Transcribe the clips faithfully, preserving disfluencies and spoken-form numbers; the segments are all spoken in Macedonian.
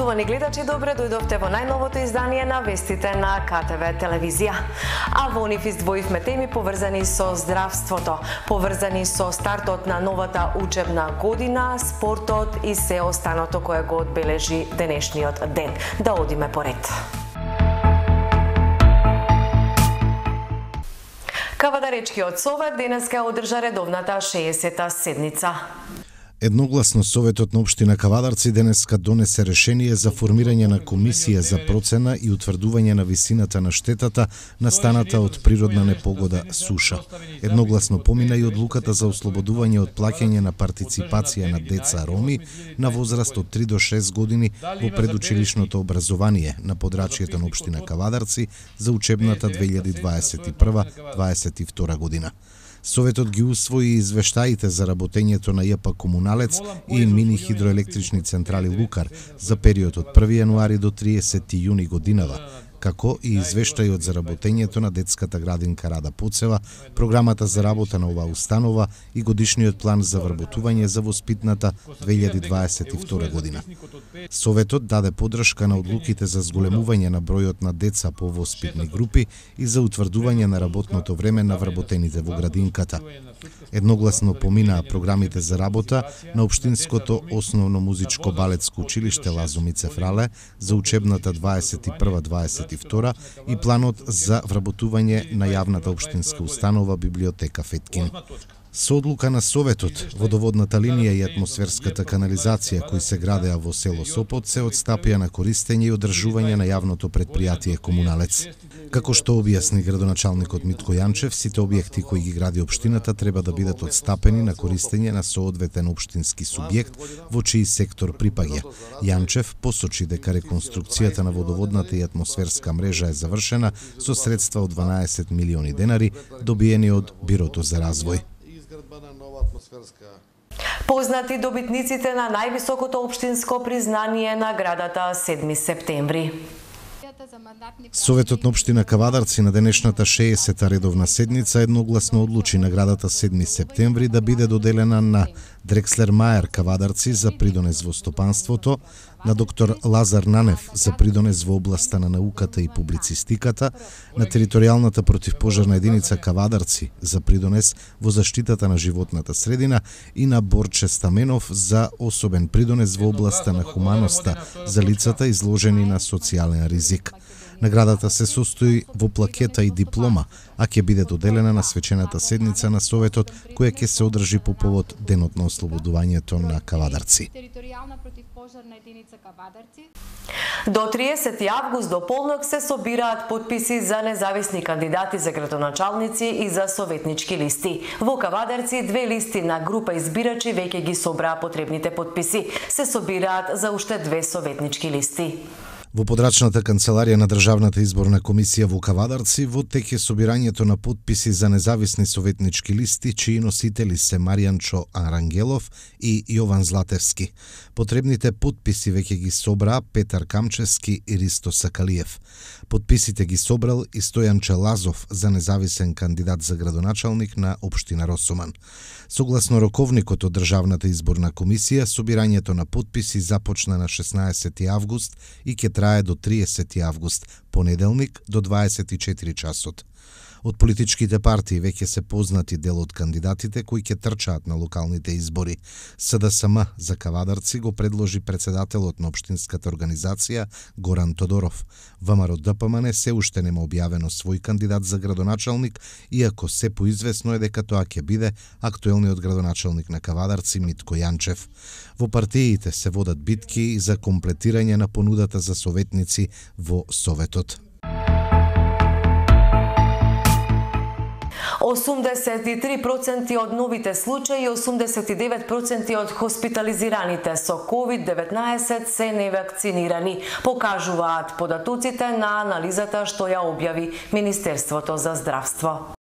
Почитувани гледачи, добре дојдовте во најновото издание на вестите на К Т В телевизија. А во нив издвоивме теми поврзани со здравството, поврзани со стартот на новата учебна година, спортот и се останато кое го одбележи денешниот ден. Да одиме поред. Кавадаречкиот совет денеска одржа редовната шеесета седница. Едногласно Советот на општина Кавадарци денеска донесе решение за формирање на комисија за процена и утврдување на висината на штетата настаната од природна непогода суша. Едногласно помина и одлуката за ослободување од плаќање на партиципација на деца роми на возраст од три до шест години во предучилишното образование на подрачјето на општина Кавадарци за учебната две илјади дваесет и прва дваесет и втора година. Советот ги усвои извештаите за работењето на Ј П Комуналец и мини хидроелектрични централи Лукар за период од први јануари до триесети јуни годинава, како и извештајот за работењето на детската градинка Рада Поцева, програмата за работа на оваа установа и годишниот план за вработување за воспитната две илјади дваесет и втора година. Советот даде поддршка на одлуките за зголемување на бројот на деца по воспитни групи и за утврдување на работното време на вработените во градинката. Едногласно поминаа програмите за работа на Општинското основно музичко балетско училиште Лазо Мицев Рале за учебната дваесет и прва дваесет и втора и планот за вработување на јавната општинска установа Библиотека Феткин. Со одлука на Советот, водоводната линија и атмосферската канализација кои се градеа во село Сопот се отстапија на користење и одржување на јавното предпријатие Комуналец. Како што објасни градоначалникот Митко Јанчев, сите објекти кои ги гради општината треба да бидат отстапени на користење на соодветен општински субјект во чиј сектор припаѓа. Јанчев посочи дека реконструкцијата на водоводната и атмосферска мрежа е завршена со средства од дванаесет милиони денари добиени од Бирото за развој. Познати добитниците на највисокото општинско признание наградата седми септември. Советот на општина Кавадарци на денешната шеесета редовна седница едногласно одлучи наградата седми септември да биде доделена на Дрекслер Мајер Кавадарци за придонес во стопанството, на доктор Лазар Нанев за придонес во областа на науката и публицистиката, на територијалната противпожарна единица Кавадарци за придонес во заштитата на животната средина и на Борче Стаменов за особен придонес во областа на хуманоста за лицата изложени на социјален ризик. Наградата се состои во плакета и диплома, а ќе биде доделена на свечената седница на Советот, која ќе се одржи по повод денот на ослободувањето на Кавадарци. До триесети август до полнок се собираат потписи за независни кандидати за градоначалници и за советнички листи. Во Кавадарци две листи на група избирачи веќе ги собраа потребните потписи. Се собираат за уште две советнички листи. Во подрачната канцеларија на Државната изборна комисија во Кавадарци во тек е собирањето на потписи за независни советнички листи, чии носители се Маријанчо Арангелов и Јован Златевски. Потребните потписи веќе ги собраа Петар Камчевски и Ристо Сакалиев. Потписите ги собрал и Стојан Челазов за независен кандидат за градоначалник на општина Росоман. Согласно роковникот од Државната изборна комисија, собирањето на потписи започна на шеснаесети август и ќе трае до триесети август, понеделник до дваесет и четири часот. Од политичките партии веќе се познати дел од кандидатите кои ќе трчаат на локалните избори. С Д С М за Кавадарци го предложи председателот на општинската организација Горан Тодоров. ВМРО Д П М Н се уште нема објавено свој кандидат за градоначалник, иако се поизвестно е дека тоа ќе биде актуелниот градоначалник на Кавадарци Митко Јанчев. Во партиите се водат битки за комплетирање на понудата за советници во Советот. осумдесет и три проценти од новите случаи и осумдесет и девет проценти од хоспитализираните со ковид деветнаесет се невакцинирани, покажуваат податоците на анализата што ја објави Министерството за здравство.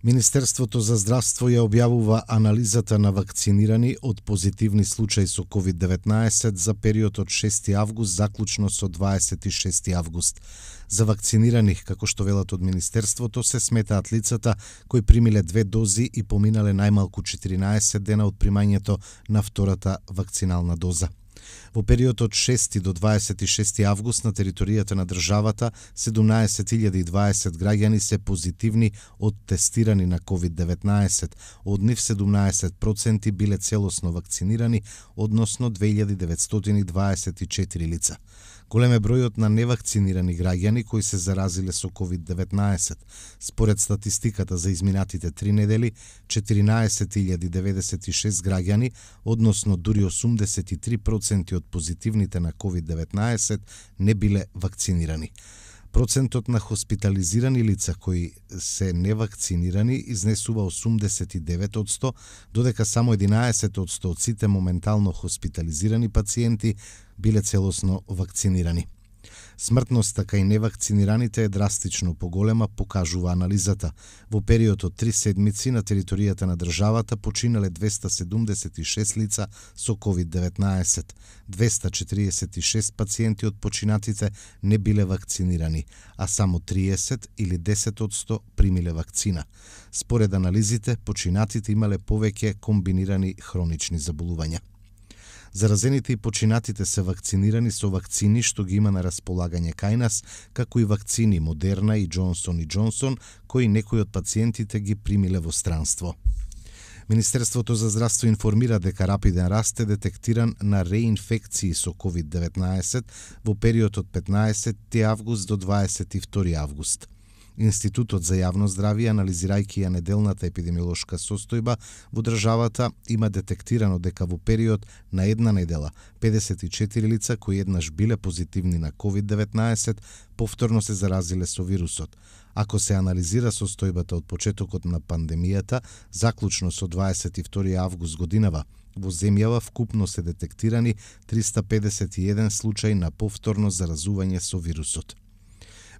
Министерството за здравство ја објавува анализата на вакцинирани од позитивни случаи со ковид деветнаесет за период од шести август заклучно со дваесет и шести август. За вакцинирани, како што велат од Министерството, се сметаат лицата кои примиле две дози и поминале најмалку четиринаесет дена од примањето на втората вакцинална доза. Во период од шести до дваесет и шести август на територијата на државата седумнаесет илјади и дваесет граѓани се позитивни од тестирани на ковид деветнаесет, од нив седумнаесет проценти биле целосно вакцинирани, односно две илјади деветстотини дваесет и четири лица. Голем е бројот на невакцинирани граѓани кои се заразиле со ковид деветнаесет. Според статистиката за изминатите три недели, четиринаесет илјади деветдесет и шест граѓани, односно дури осумдесет и три проценти од позитивните на ковид деветнаесет, не биле вакцинирани. Процентот на хоспитализирани лица кои се невакцинирани изнесува осумдесет и девет одсто, додека само единаесет одсто од сите моментално хоспитализирани пациенти биле целосно вакцинирани. Смртноста кај невакцинираните е драстично поголема, покажува анализата. Во период од три седмици на територијата на државата починале двеста седумдесет и шест лица со ковид деветнаесет. двеста четириесет и шест пациенти од починатите не биле вакцинирани, а само триесет или десет одсто примиле вакцина. Според анализите, починатите имале повеќе комбинирани хронични заболувања. Заразените и починатите се вакцинирани со вакцини што ги има на располагање кај нас, како и вакцини Модерна и Джонсон и Джонсон, кои некои од пациентите ги примиле во странство. Министерството за здравство информира дека рапиден раст е детектиран на реинфекции со ковид деветнаесет во период од петнаесети август до дваесет и втори август. Институтот за јавно здравје, анализирајќи ја неделната епидемиолошка состојба во државата, има детектирано дека во период на една недела педесет и четири лица кои еднаш биле позитивни на ковид деветнаесет повторно се заразиле со вирусот. Ако се анализира состојбата од почетокот на пандемијата, заклучно со дваесет и втори август годинава, во земјава вкупно се детектирани триста педесет и еден случај на повторно заразување со вирусот.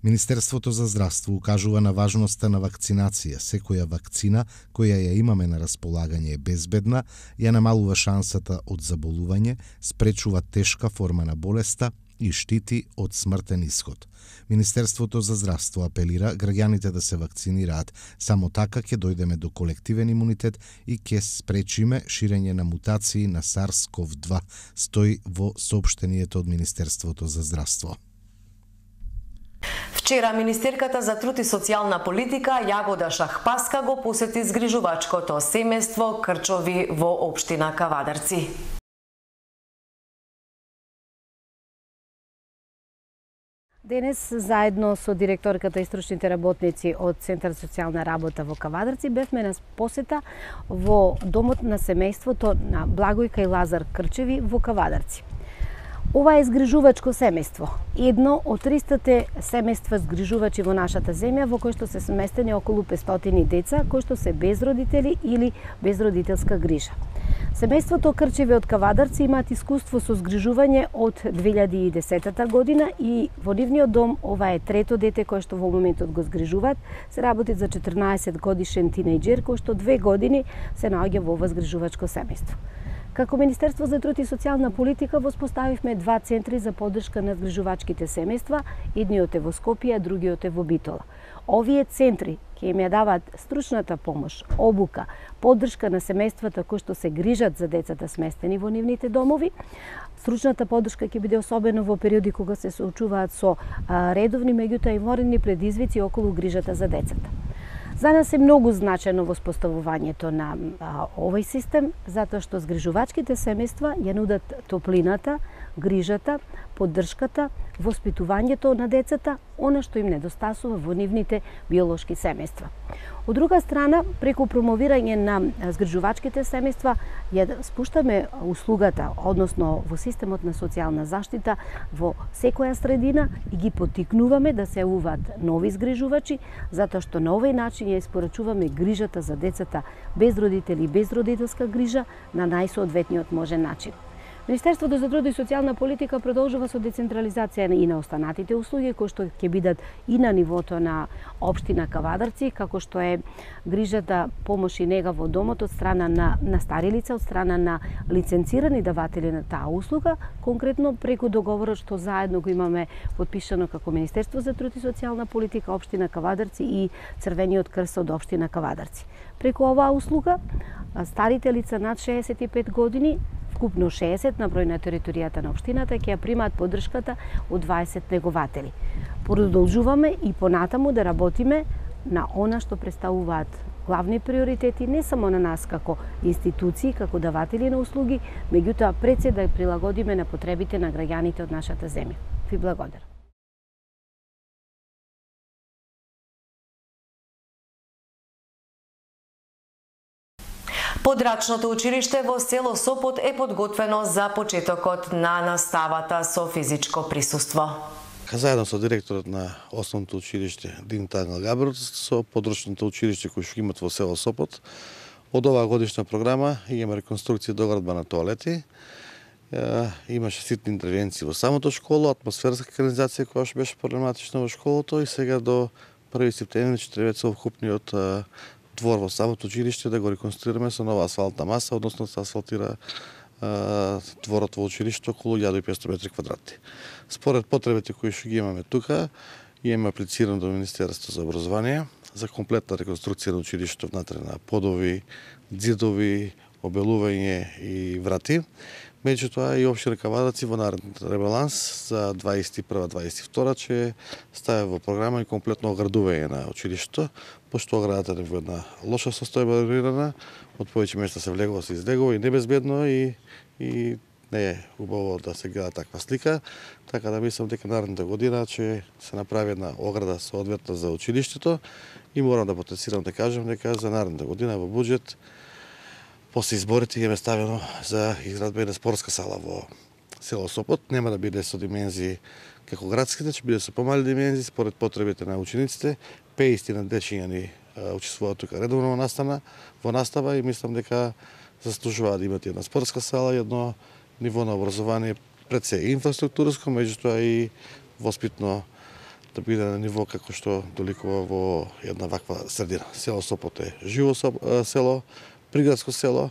Министерството за здравство укажува на важноста на вакцинација. Секоја вакцина која ја имаме на располагање е безбедна, ја намалува шансата од заболување, спречува тешка форма на болеста и штити од смртен исход. Министерството за здравство апелира граѓаните да се вакцинираат. Само така ќе дојдеме до колективен имунитет и ќе спречиме ширење на мутации на SARS CoV два, стои во соопштението од Министерството за здравство. Вчера министерката за труд и социјална политика Јагода Шахпаска го посети згрижувачкото семејство Крчови во општина Кавадарци. Денес, заедно со директорката и стручните работници од Центар за социјална работа во Кавадарци, бевме на посета во домот на семејството на Благојка и Лазар Крчеви во Кавадарци. Ова е згрижувачко семејство, едно од тристата семејства згрижувачи во нашата земја, во кој што се сместени околу петстотини деца кои што се без родители или без родителска грижа. Семејството Крчеви од Кавадарци имаат искуство со згрижување од две илјади и десетата година и во нивниот дом ова е трето дете кое што во моментот го згрижуваат. Се работи за четрнаесет годишен тинејџер кој што две години се наоѓа во ова згрижувачко семејство. Како Министерство за труд и социјална политика воспоставивме два центри за поддршка на згрижувачките семејства, едниот е во Скопје, а другиот е во Битола. Овие центри ќе им ја даваат стручната помош, обука, поддршка на семејствата кои што се грижат за децата сместени во нивните домови. Стручната поддршка ќе биде особено во периоди кога се соочуваат со редовни, меѓутоа и воредни предизвици околу грижата за децата. За нас е многу значено воспоставувањето на а, овој систем, затоа што згрижувачките семејства ја нудат топлината, грижата, поддршката, воспитувањето на децата, она што им недостасува во нивните биолошки семејства. Од друга страна, преку промовирање на згрижувачките семејства, ја спуштаме услугата, односно во системот на социјална заштита во секоја средина и ги поттикнуваме да се јавуваат нови згрижувачи, затоа што на овој начин ја испорачуваме грижата за децата без родители и без родителска грижа на најсоодветниот можен начин. Министерството за труд и социјална политика продолжува со децентрализација и на останатите услуги кои што ќе бидат и на нивото на општина Кавадарци, како што е грижата, помош и нега во домот од страна на, на стари лица, од страна на лиценцирани даватели на таа услуга, конкретно преку договорот што заедно го имаме подпишано како Министерство за труд и социјална политика, општина Кавадарци и Црвениот крст од општина Кавадарци. Преку оваа услуга, старите лица над шеесет и пет години вкупно шеесет на број на територијата на општината ќе ја примаат поддршката од дваесет негователи. Продолжуваме и понатаму да работиме на она што представуваат главни приоритети не само на нас како институции, како даватели на услуги, меѓутоа пред се да прилагодиме на потребите на граѓаните од нашата земја. Ви благодарам. Подрачното училиште во село Сопот е подготвено за почетокот на наставата со физичко присуство. Заедно со директорот на основното училиште Динта Ангел Габерот, со подрачното училиште кој што имат во село Сопот, од оваа годишна програма имаме реконструкција доградба на тоалети, имаше ситни интервенции во самото школо, атмосферска канализација која што беше проблематична во школото и сега до први септември ќе треба совкупниот двор во самото училиште да го реконструираме со нова асфалтна маса, односно да се асфалтира дворот во училиштето околу илјада и петстотини метри квадратни. Според потребите кои што ги имаме тука, имаме аплицирано до Министерството за образование за комплетна реконструкција на училиштето внатре на подови, ѕидови, обелување и врати. Меѓутоа и општина Кавадарци во наредниот ребаланс за дваесет и прва дваесет и втора ќе стави во програма и комплетно оградување на училиштето, пошто оградата е во една лоша состојба регулирана, од повеќе места се влегува, се излегува и небезбедно и, и не е убаво да се гледа таква слика, така да мислам дека наредната година ќе се направи една ограда соодветна за училиштето и морам да потенцирам да кажам дека за наредната година во буџет после изборите имаме ставено за изградба на спортска сала во село Сопот. Нема да биде со димензии како градските, ќе биде со помали димензии според потребите на учениците. петдесет дечиња ни учествуваат тука редовно во настава, во настава и мислам дека заслужуваат да имат една спортска сала и едно ниво на образование пред се инфраструктурско, меѓутоа и воспитно да биде на ниво како што доликува во една ваква средина. Село Сопот е живо село, приградско село,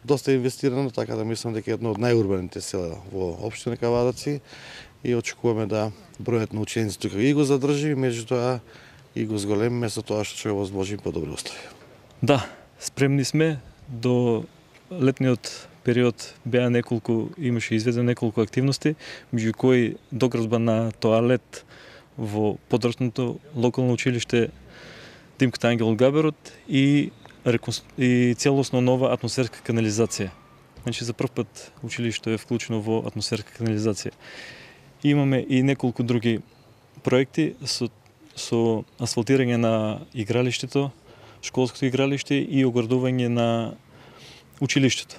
доста инвестирано, така да мислам дека е едно од најурбаните села во општина Кавадарци и очекуваме да бројот на ученици тука и го задржи, меѓутоа и го зголемиме со тоа што ќе возможи подобри услови. Да, спремни сме. До летниот период беа неколку, имаше изведено неколку активности, меѓу кои доградба на тоалет во подрачното локално училиште Димка Ангел Габерот и и целосно нова атмосферска канализација. Значи за прв пат училиштето е вклучено во атмосферска канализација. И имаме и неколку други проекти со, со асфалтирање на игралиштето, школското игралиште и оградување на училиштето.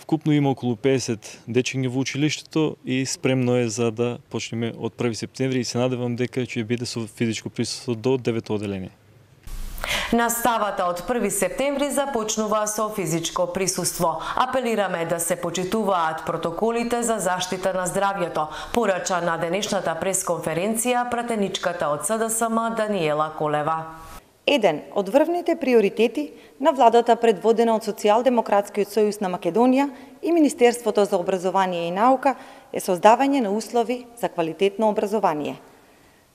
Вкупно има околу петдесет дечиња во училиштето и спремно е за да почнеме од први септември и се надевам дека ќе биде со физичко присуство до девето оделение. Наставата од први септември започнува со физичко присуство. Апелираме да се почитуваат протоколите за заштита на здравјето, порача на денешната пресконференција пратеничката од С Д С М Даниела Колева. Еден од врвните приоритети на владата предводена од Социјалдемократскиот сојуз на Македонија и Министерството за образование и наука е создавање на услови за квалитетно образование.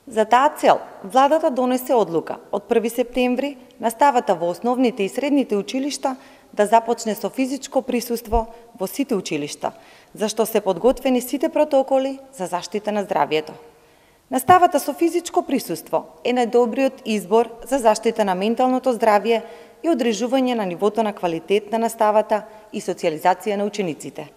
За таа цел, владата донесе одлука од први септември наставата во основните и средните училишта да започне со физичко присуство во сите училишта, зашто се подготвени сите протоколи за заштита на здравјето. Наставата со физичко присуство е најдобриот избор за заштита на менталното здравје и одржување на нивото на квалитет на наставата и социјализација на учениците.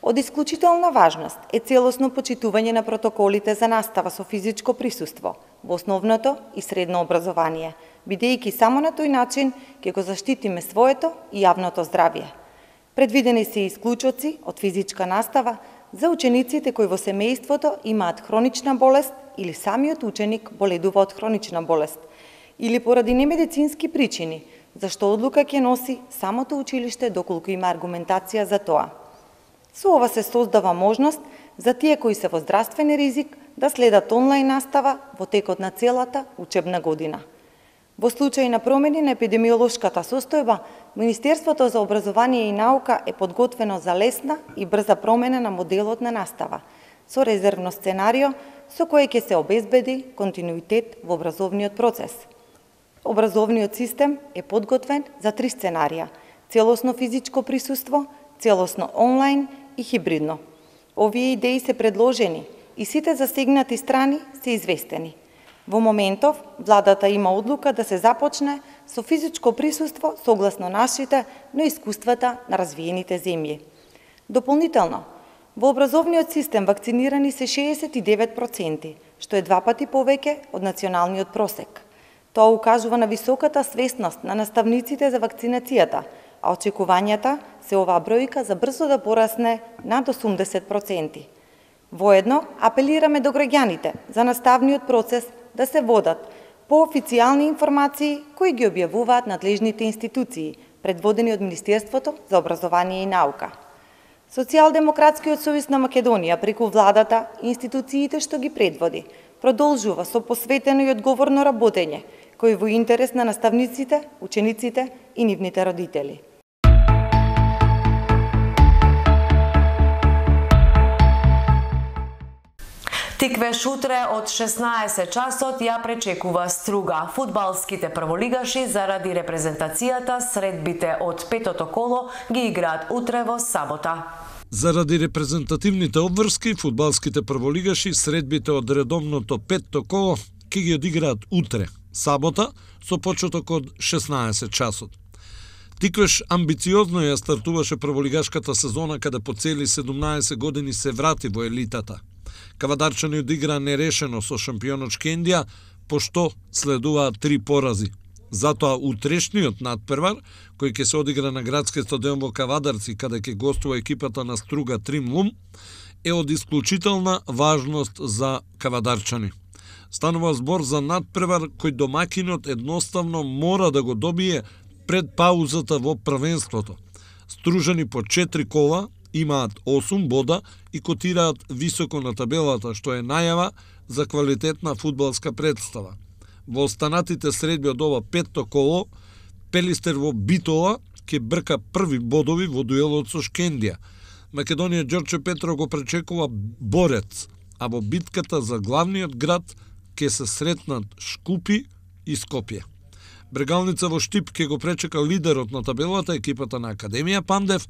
Од исклучителна важност е целосно почитување на протоколите за настава со физичко присуство во основното и средно образование, бидејќи само на тој начин ќе го заштитиме своето и јавното здравје. Предвидени се исклучоци од физичка настава за учениците кои во семејството имаат хронична болест или самиот ученик боледува од хронична болест, или поради немедицински причини, зашто одлука ќе носи самото училиште доколку има аргументација за тоа. Со ова се создава можност за тие кои се во здравствен ризик да следат онлайн настава во текот на целата учебна година. Во случај на промени на епидемиолошката состојба, Министерството за образование и наука е подготвено за лесна и брза промена на моделот на настава, со резервно сценарио со кое ќе се обезбеди континуитет во образовниот процес. Образовниот систем е подготвен за три сценарија. целосно физичко присуство, целосно онлайн и хибридно. Овие идеи се предложени и сите засегнати страни се известени. Во моментов, владата има одлука да се започне со физичко присуство согласно нашите, но искуствата на развиените земји. Дополнително, во образовниот систем вакцинирани се шеесет и девет проценти, што е два пати повеќе од националниот просек. Тоа укажува на високата свесност на наставниците за вакцинацијата, а очекувањата се оваа бројка за брзо да порасне над осумдесет проценти. Воедно, апелираме до граѓаните за наставниот процес да се водат по официјални информации кои ги објавуваат надлежните институции, предводени од Министерството за образование и наука. Социјалдемократскиот сојуз на Македонија преку владата и институциите што ги предводи, продолжува со посветено и одговорно работење, кој во интерес на наставниците, учениците и нивните родители. Тиквеш утре од шеснаесет часот ја пречекува струга. Фудбалските прволигаши заради репрезентацијата средбите од петото коло ги играат утре во сабота. Заради репрезентативните обврски, фудбалските прволигаши средбите од редовното петто коло ќе ги одиграат утре, сабота, со почеток од шеснаесет часот. Тиквеш амбициозно ја стартуваше прволигашката сезона каде по цели седумнаесет години се врати во елитата. Кавадарчани одигра нерешено со шампионот Шкендија, пошто следуваат три порази. Затоа утрешниот надпревар, кој ќе се одигра на градскиот стадион во Кавадарци, каде ќе гостува екипата на Струга Тримлум, е од исклучителна важност за кавадарчани. Станува збор за надпревар кој домакинот едноставно мора да го добие пред паузата во првенството. Стружани по четири кола, имаат осум бода и котираат високо на табелата, што е најава за квалитетна фудбалска представа. Во останатите средби од ова петто коло, Пелистер во Битола ќе брка први бодови во дуелот со Шкендија. Македонија Ѓорче Петров го пречекува борец, а во битката за главниот град ќе се сретнат Шкупи и Скопје. Брегалница во Штип ќе го пречека лидерот на табелата, екипата на Академија Пандев,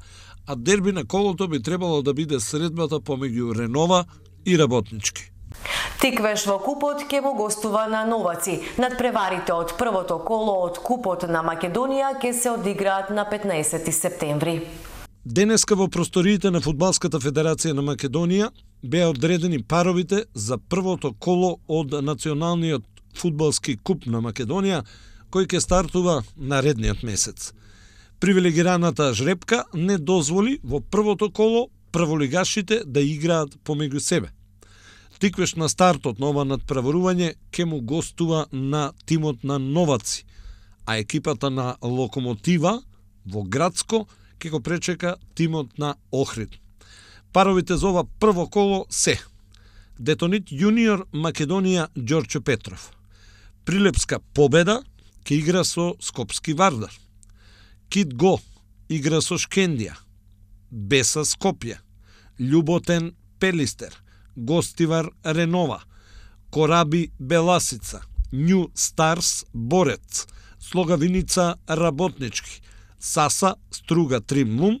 а дерби на колото би требало да биде средбата помеѓу Ренова и Работнички. Тиквеш во купот ќе му гостува на Новаци. Надпреварите од првото коло од купот на Македонија ќе се одиграат на петнаесети септември. Денеска во просториите на Фудбалската федерација на Македонија беа одредени паровите за првото коло од Националниот фудбалски куп на Македонија, кој ќе стартува наредниот месец. Привилегираната жрепка не дозволи во првото коло прволигашите да играат помеѓу себе. Тиквеш на стартот на ова надпреварување ќе му гостува на тимот на Новаци, а екипата на Локомотива во Градско ќе го пречека тимот на Охрид. Паровите за ова прво коло се Детонит Јуниор Македонија Ѓорче Петров. Прилепска Победа ќе игра со Скопски Вардар. Кит Го игра со Шкендија. Беса Скопје. Љуботен Пелистер. Гостивар Ренова. Кораби Беласица. Нју Старс Борец. Слогавиница Работнички. Саса Струга Тримлум.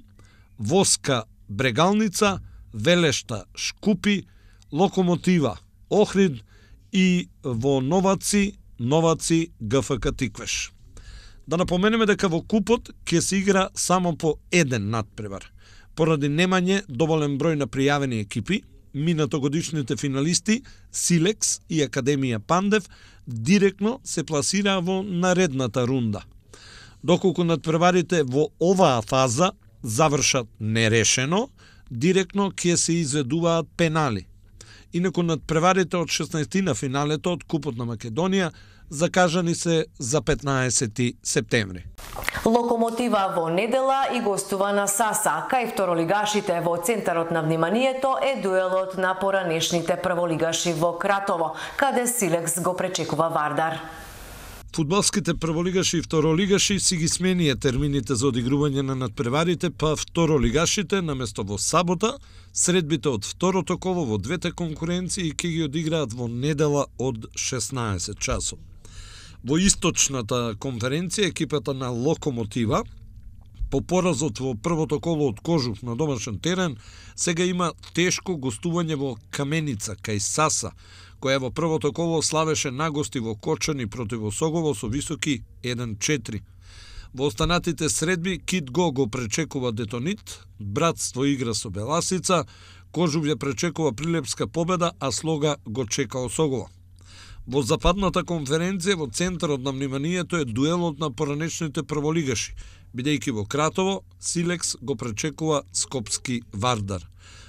Воска Брегалница. Велешта Шкупи. Локомотива Охрид и во Новаци Новаци ГФК Тиквеш. Да напоменеме дека во купот ќе се игра само по еден надпревар. Поради немање доволен број на пријавени екипи, минатогодишните финалисти Силекс и Академија Пандев директно се пласираа во наредната рунда. Доколку надпреварите во оваа фаза завршат нерешено, директно ќе се изведуваат пенали. Инаку надпреварите од шеснаесет на финалето од Купот на Македонија закажани се за петнаесети септември. Локомотива во недела и гостува на Саса. Кај второлигашите во центарот на вниманието е дуелот на поранешните прволигаши во Кратово, каде Силекс го пречекува Вардар. Фудбалските прволигаши и второлигаши си ги сменија термините за одигрување на надпреварите, па второлигашите наместо во сабота, средбите од второто коло во двете конкуренции ќе ги одиграат во недела од шеснаесет часот. Во источната конференција екипата на Локомотива По поразот во првото коло од Кожух на домашен терен, сега има тешко гостување во Каменица, кај Саса, која во првото коло славеше нагости во Кочани против Осогово со високи еден четири. Во останатите средби Кит Го го пречекува Детонит, Братство игра со Беласица, Кожув ја пречекува Прилепска победа, а Слога го чека Осогово. Во западната конференција во центарот на вниманието е дуелот на поранешните прволигаши, бидејќи во Кратово Силекс го пречекува Скопски Вардар.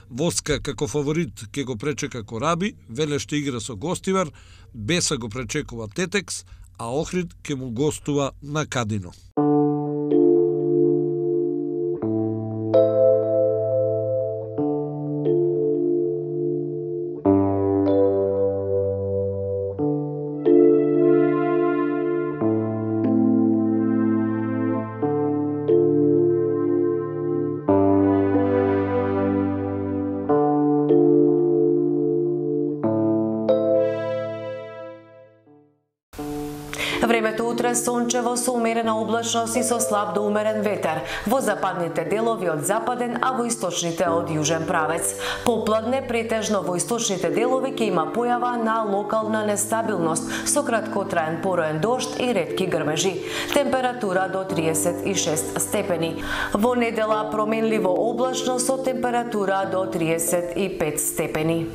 Воска како фаворит ќе го пречека Кораби, Велеште игра со Гостивар, Беса го пречекува Тетекс, а Охрид ќе му гостува на Кадино. Времето утре сончево со умерена облачност и со слаб до умерен ветер. Во западните делови од западен, а во источните од јужен правец. Попладне претежно во источните делови ќе има појава на локална нестабилност со краткотраен пороен дожд и ретки грмежи. Температура до триесет и шест степени. Во недела променливо облачно со температура до триесет и пет степени.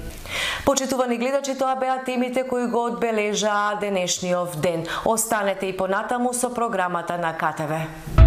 Почитувани гледачи, тоа беа темите кои го одбележаа денешниот ден. Останете и понатаму со програмата на КТВ.